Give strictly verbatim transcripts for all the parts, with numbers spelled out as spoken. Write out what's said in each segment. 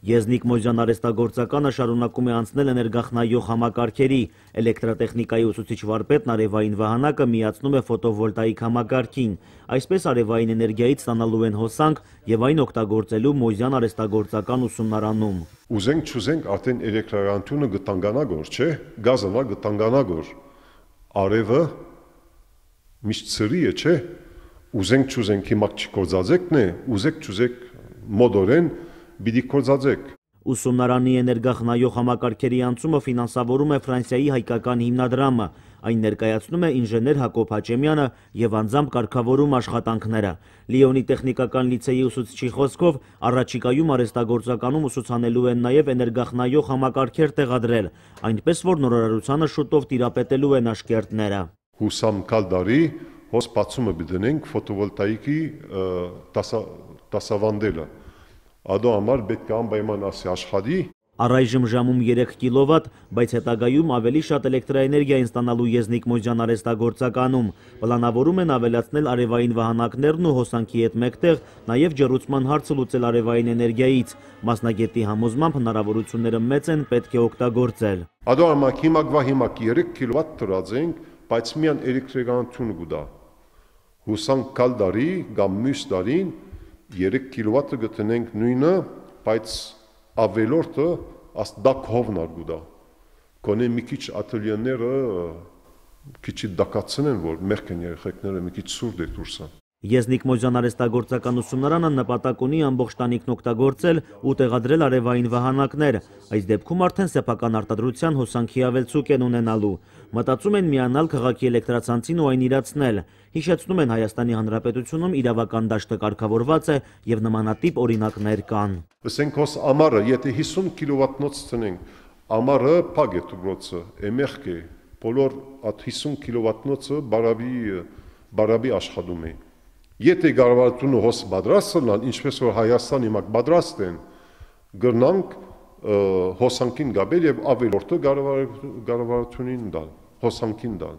Եզնիկ Մոզյան արհեստագործականը շարունակում է անցնել էներգախնայող համակարգերի, էլեկտրատեխնիկայի ուսուցիչ վարպետն արևային վահանակը միացնում է ֆոտովոլտաիկ համակարգին, այսպես արևային էներգիայից ստանալու են հոսանք և այն օգտագործելու Մոզյան արհեստագործական ուսումնարանում։ Ուզենք չուզենք արդեն էլեկտրականությունը գտանգանագոր, չէ, գազը գտանգանագոր, արևը միշտ սրի է, չէ, ուզենք չուզենք հիմա չկործածեկն է, ուզեք չուզեք մոդորեն բիդի կործածեք։ Ուսումնարանի էներգախնայող համակարգերի անցումը ֆինանսավորում է Ֆրանսիայի հայկական հիմնադրամը, այն ներկայացնում է ինժեներ Հակոբ Հաչեմյանը և անձամբ կարգավորում աշխատանքները։ Լիոնի տեխնիկական լիցեյի ուսուցչի խոսքով առաջիկայում արհեստագործականում ուսուցանելու են նաև էներգախնայող համակարգեր տեղադրել, այնպես որ նորարարությանը շուտով տիրապետելու են աշկերտները։ Հուսամ կալ դարի հոս բացումը բդնենք ֆոտովոլտաիկի դասավանդելը։ Ադո համար պետք է անպայման ասի աշխատի։ Առայժմ ժամում երեք կիլովատ, բայց հետագայում ավելի շատ էլեկտրաէներգիա են ստանալու Եզնիկ Մոզյան արհեստագործականում։ Պլանավորում են ավելացնել արևային վահանակներն ու հոսանքի հետ մեկտեղ նաև ջեռուցման հարցը լուծել արևային էներգիայից։ Մասնագետի համոզմամբ հնարավորությունները մեծ են, պետք է օգտագործել։ Ադո համար հիմա հիմա երեք կիլովատ տրածենք, բայց միան էլեկտրականություն գուտա։ Հուսանք կալ դարի կամ մյուս դարին երեք կիլովատը գտնենք նույնը, բայց ավելորդը աստդակ հովնար գուտա։ Կոնե մի քիչ ատելյեները քիչ դակացնեն, որ մերկեն երեխեքները մի քիչ սուրդ է դուրսը։ Եզնիկ Մոզյան արհեստագործական ուսումնարանը նպատակ ունի ամբողջ տանիքն օգտագործել ու տեղադրել արևային վահանակներ, այս դեպքում արդեն սեփական արտադրության հոսանքի ավելցուկ են ունենալու։ Մտածում են միանալ քաղաքի էլեկտրացանցին ու այն իրացնել։ Հիշեցնում են Հայաստանի Հանրապետությունում իրավական դաշտը կարգավորված է և նմանատիպ օրինակներ կան։ Ասենք հոս ամառը, եթե հիսուն կիլովատնոց տնենք, ամառը փակ է դուբրոցը, էմերք է, բոլոր այդ հիսուն կիլովատնոցը բարաբի աշխատում է։ Եթե կառավարությունը հոս պատրաստ լինան, ինչպես որ Հայաստանի մակ պատրաստ են, գրնանք հոսանքին գաբել եւ ավելորդը կառավարությունին դալ, հոսանքին դալ,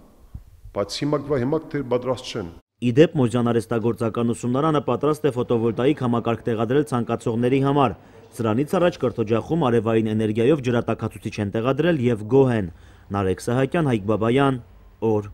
բայց հիմա հիմա դեռ պատրաստ չեն։ Իդեպ Մոզյան արհեստագործական ուսումնարանը պատրաստ է ֆոտովոլտաիկ համակարգ տեղադրել ցանկացողների համար։ Սրանից առաջ կրթօջախում արևային էներգիայով ջրատաքացուցիչ են տեղադրել եւ գոհ են։ Նարեկ Սահակյան, Հայկ Բաբայան, օր։